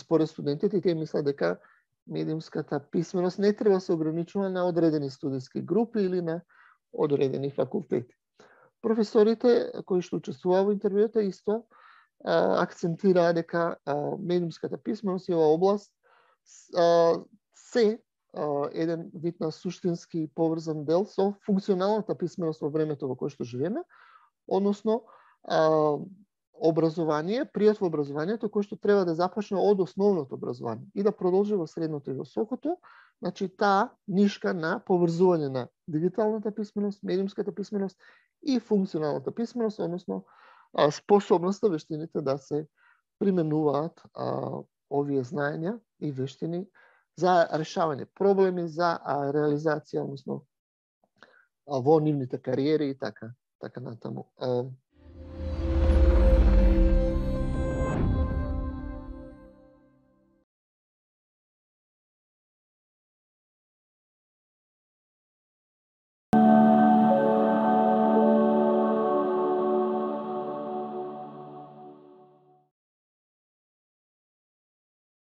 според студентите, тие мислат дека медиумската писменост не треба да се ограничува на одредени студиски групи или на одредени факултети. Професорите кои што учествуваа во интервјуата исто акцентираа дека медиумската писменост и оваа област се еден вид на суштински поврзан дел со функционалната писменост во времето во кое што живееме, односно образование, пријат во образованието кој што треба да започне од основното образование и да продолжи во средното и високото, значи таа нишка на поврзување на дигиталната писменост, медиумската писменост и функционалната писменост, односно способноста, вештините да се применуваат овие знаења и вештини за решавање проблеми, за реализација, односно во нивните кариери и така натаму.